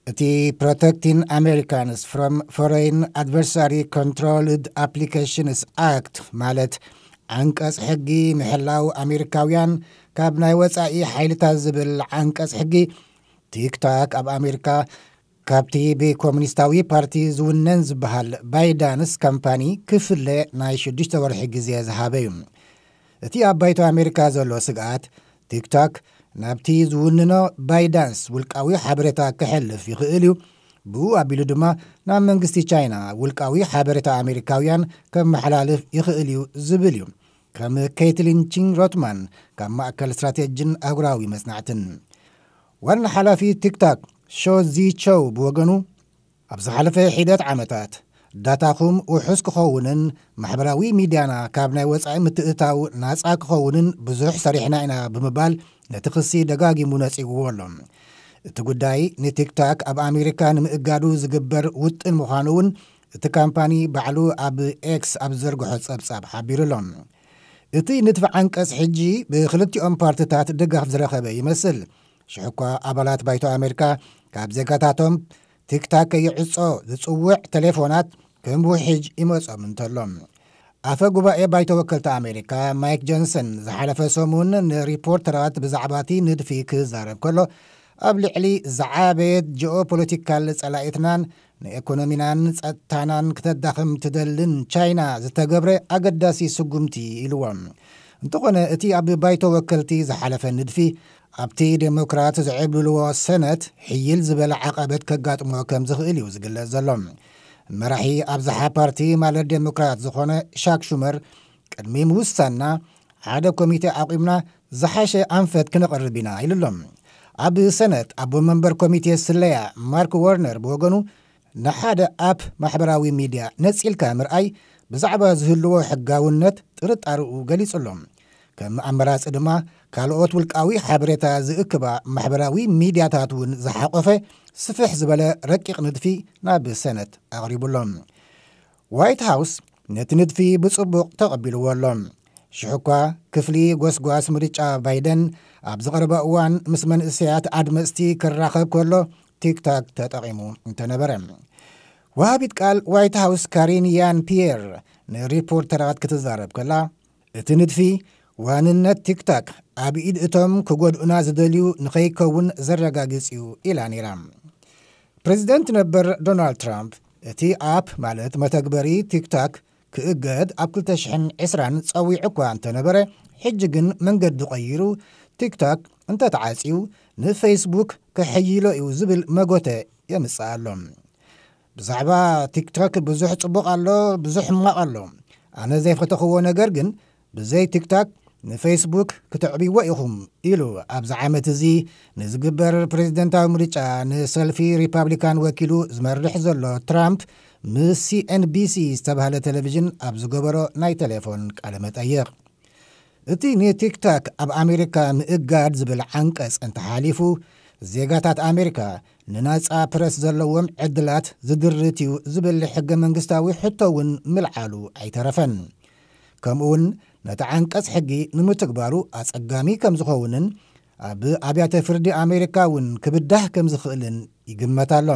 እቲ Protecting Americans from Foreign Adversary Controlled Applications Act ማለት ዓንቀጽ ሕጊ ምሕላው ኣሜሪካውያን ካብ ናይ ወጻኢ ሓይልታት ዝብል ዓንቀጽ ሕጊ፣ ቲክቶክ ኣብ ኣሜሪካ ካብቲ ብኮሙኒስታዊ ፓርቲ ዝውነን ዝበሃል ባይዳንስ ካምፓኒ ክፍለ ናይ ሽዱሽተ ወርሒ ግዜ ዝሃበ እዩ። እቲ ኣብ ባይቶ ኣሜሪካ ዘሎ ስግኣት፣ ቲክቶክ ናብቲ ዝውንኖ ባይዳንስ ውልቃዊ ሓበሬታ ክሕልፍ ይኽእል እዩ፣ ብኡ ኣቢሉ ድማ ናብ መንግስቲ ቻይና ውልቃዊ ሓበሬታ ኣሜሪካውያን ከመሓላልፍ ይኽእል እዩ ዝብል እዩ። ከም ኬትሊን ቺን ሮትማን ካብ ማእከል ስትራቴጂን ኣህጉራዊ መጽናዕትን። ዋና ሓላፊ ቲክቶክ ሾ ዚ ቸው ብወገኑ፣ ኣብ ዝሓለፈ ሒደት ዓመታት ዳታኹም ውሑስ ክኸውንን ማሕበራዊ ሚድያና ካብ ናይ ወጻኢ ምትእታው ናጻ ክኸውንን ብዙሕ ሰሪሕና ኢና ብምባል ነቲ ክሲ ደጋጊሙ ነጺግዎ ኣሎ። እቲ ጉዳይ ንቲክቶክ ኣብ ኣሜሪካ ንምእጋዱ ዝግበር ውጥን ምዃኑ እውን እቲ ካምፓኒ ባዕሉ ኣብ ኤክስ ኣብ ዝዘርግሖ ጸብጻብ ሓቢሩ ኣሎ። እቲ ንድፊ ዓንቀጽ ሕጂ ብክልቲኦም ፓርትታት ድጋፍ ዝረኸበ ይመስል። ሽሕኳ ኣባላት ባይቶ ኣሜሪካ ካብ ዜጋታቶም ቲክታክ ከይዕጾ ዝጽውዕ ቴሌፎናት ከም ውሕጅ ይመጾም እንተሎ። ኣፈ ጉባኤ ባይቶ ወከልቲ ኣሜሪካ ማይክ ጆንሰን ዝሓለፈ ሰሙን ንሪፖርተራት ብዛዕባ እቲ ንድፊ ክዛረብ ከሎ፣ ኣብ ልዕሊ ዝዓበየት ጂኦፖለቲካል ጸላኢትናን ንኢኮኖሚናን ጸጥታናን ክተዳኽም ትደልን ቻይና ዝተገብረ ኣገዳሲ ስጉምቲ ኢልዎ። እንተኾነ እቲ ኣብ ባይቶ ወከልቲ ዝሓለፈ ንድፊ ኣብቲ ዴሞክራት ዝዕብልልዎ ሰነት ሕይል ዝበለ ዓቐበት ከጋጥሞ ከም ዝኽእል እዩ ዝግለጽ ዘሎ። መራሒ ኣብዝሓ ፓርቲ ማለት ዴሞክራት ዝኾነ ሻክ ሹመር ቅድሚ ምውሳንና ሓደ ኮሚቴ ኣቑምና ዝሓሸ ኣንፈት ክነቕርብ ኢና ኢሉ ኣሎ። ኣብ ሰነት ኣቦ መንበር ኮሚቴ ስለያ ማርክ ወርነር ብወገኑ ንሓደ ኣፕ ማሕበራዊ ሚድያ ነጺልካ ምርኣይ ብዛዕባ ዝህልዎ ሕጋውነት ጥርጣርኡ ገሊጹ ኣሎ። ከም ኣመራጺ ድማ ካልኦት ውልቃዊ ሓበሬታ ዝእክባ ማሕበራዊ ሚድያታት እውን ዝሓቆፈ ስፍሕ ዝበለ ረቂቕ ንድፊ ናብ ሰነት ኣቕሪቡ ኣሎ። ዋይት ሃውስ ነቲ ንድፊ ብጽቡቕ ተቐቢልዎ ኣሎ። ሽሕኳ ክፍሊ ጎስጓስ ምርጫ ባይደን ኣብ ዝቐረበ እዋን ምስ መንእሰያት ኣድመጽቲ ክራኸብ ከሎ ቲክታክ ተጠቒሙ እንተነበረ። ወሃቢት ቃል ዋይት ሃውስ ካሪን ያን ፒየር ንሪፖርተራት ክትዛረብ ከላ፣ እቲ ንድፊ ዋንነት ቲክታክ ኣብ ኢድ እቶም ክጎድኡና ዝደልዩ ንኸይከውን ዘረጋግጽ እዩ ኢላ ነይራ። ፕሬዚደንት ነበር ዶናልድ ትራምፕ እቲ ኣፕ ማለት መተግበሪ ቲክታክ ክእገድ ኣብ ክልተ ሽሕን ዕስራን ጸዊዑ እኳ እንተነበረ፣ ሕጂ ግን መንገዲ ቀይሩ ቲክታክ እንተተዓጽዩ ንፌስቡክ ክሕይሎ እዩ ዝብል መጎተ የምጽእ ኣሎ። ብዛዕባ ቲክቶክ ብዙሕ ጽቡቕ ኣሎ፣ ብዙሕ ሕማቕ ኣሎ። ኣነ ዘይፈተኽዎ ነገር ግን ብዘይ ቲክቶክ ንፌስቡክ ክትዕብይዎ ኢኹም ኢሉ ኣብዚ ዓመት እዚ ንዝግበር ፕሬዚደንታዊ ምርጫ ንሰልፊ ሪፓብሊካን ወኪሉ ዝመርሕ ዘሎ ትራምፕ ምስ ሲኤንቢሲ ዝተባህለ ቴሌቪዥን ኣብ ዝገበሮ ናይ ቴሌፎን ቃለ መጠይቕ። እቲ ንቲክቶክ ኣብ ኣሜሪካ ምእጋድ ዝብል ዓንቀጽ እንተሓሊፉ፣ ዜጋታት ኣሜሪካ ንናጻ ፕረስ ዘለዎም ዕድላት ዝድርት እዩ ዝብል ሕገ መንግስታዊ ሕቶ እውን ምልዓሉ ኣይተረፈን። ከምኡውን ነቲ ዓንቀጽ ሕጊ ንምትግባሩ ኣጸጋሚ ከም ዝኸውንን ኣብ ኣብያተ ፍርዲ ኣሜሪካ እውን ክብዳህ ከም ዝኽእልን ይግመት ኣሎ።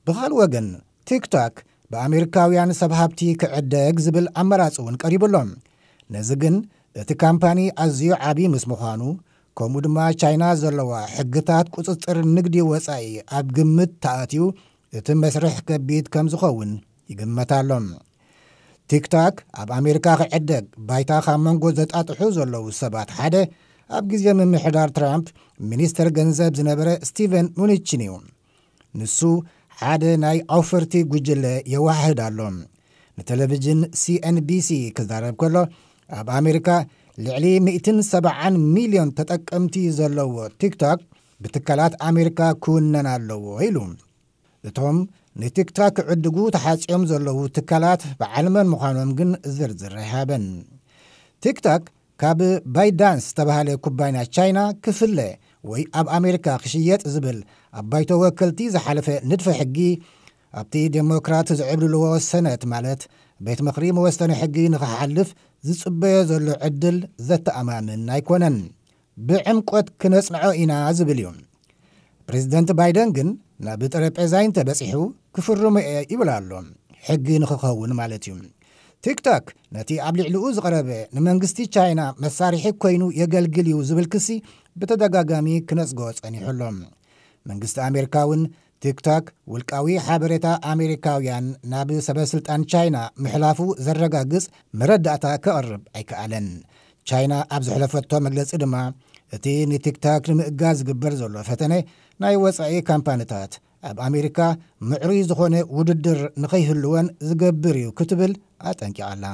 ብኻልእ ወገን፣ ቲክቶክ ብኣሜሪካውያን ሰብ ሃብቲ ክዕደግ ዝብል ኣመራጺ እውን ቀሪቡ ኣሎ። ነዚ ግን እቲ ካምፓኒ ኣዝዩ ዓቢ ምስ ምዃኑ፣ ከምኡ ድማ ቻይና ዘለዋ ሕግታት ቁጽጽር ንግዲ ወጻኢ ኣብ ግምት ተኣትዩ፣ እቲ መስርሕ ከቢድ ከም ዝኸውን ይግመት ኣሎ። ቲክቶክ ኣብ ኣሜሪካ ክዕደግ ባይታ ካብ መንጎ ዘጣጥሑ ዘለዉ ሰባት ሓደ ኣብ ግዜ ምምሕዳር ትራምፕ ሚኒስተር ገንዘብ ዝነበረ ስቲቨን ሙኒችን እዩ። ንሱ ሓደ ናይ ኣውፈርቲ ጉጅለ የዋህድ ኣሎ። ንቴሌቪዥን ሲኤንቢሲ ክዛረብ ከሎ፣ ኣብ ኣሜሪካ ልዕሊ ሚእትን ሰብዓን ሚልዮን ተጠቀምቲ ዘለዎ ቲክቶክ ብትካላት ኣሜሪካ ክውነን ኣለዎ ኢሉ። እቶም ንቲክቶክ ክዕድጉ ተሓጽዮም ዘለዉ ትካላት በዓል መን ምዃኖም ግን ዝርዝር ኣይሃበን። ቲክቶክ ካብ ባይዳንስ ዝተባህለ ኩባንያ ቻይና ክፍለ ወይ ኣብ ኣሜሪካ ክሽየጥ ዝብል ኣብ ባይቶ ወከልቲ ዝሓለፈ ንድፈ ሕጊ፣ ኣብቲ ዴሞክራት ዝዕብልልዎ ሰነት ማለት ቤት ምኽሪ መወሰኒ ሕጊ ንኽሓልፍ ዝጽበዮ ዘሎ ዕድል ዘተኣማምን ኣይኮነን። ብዕምቆት ክነጽንዖ ኢና ዝብል እዩ። ፕሬዚደንት ባይደን ግን ናብ ጠረጴዛይ እንተበጺሑ ክፍርሞ እየ ይብል ኣሎ። ሕጊ ንኽኸውን ማለት እዩ። ቲክቶክ ነቲ ኣብ ልዕሊኡ ዝቐረበ ንመንግስቲ ቻይና መሳርሒ ኮይኑ የገልግል እዩ ዝብል ክሲ ብተደጋጋሚ ክነጽጎ ጸኒሑ ኣሎ። መንግስቲ ኣሜሪካ እውን ቲክቶክ ውልቃዊ ሓበሬታ ኣሜሪካውያን ናብ ሰበ ስልጣን ቻይና ምሕላፉ ዘረጋግጽ መረዳእታ ከቕርብ ኣይከኣለን። ቻይና ኣብ ዘሕለፈቶ መግለጺ ድማ እቲ ንቲክቶክ ንምእጋዝ ዝግበር ዘሎ ፈተነ ናይ ወጻኢ ካምፓኒታት ኣብ ኣሜሪካ ምዕሩይ ዝኾነ ውድድር ንኸይህልወን ዝገብር እዩ ክትብል ኣጠንቂቓ ኣላ።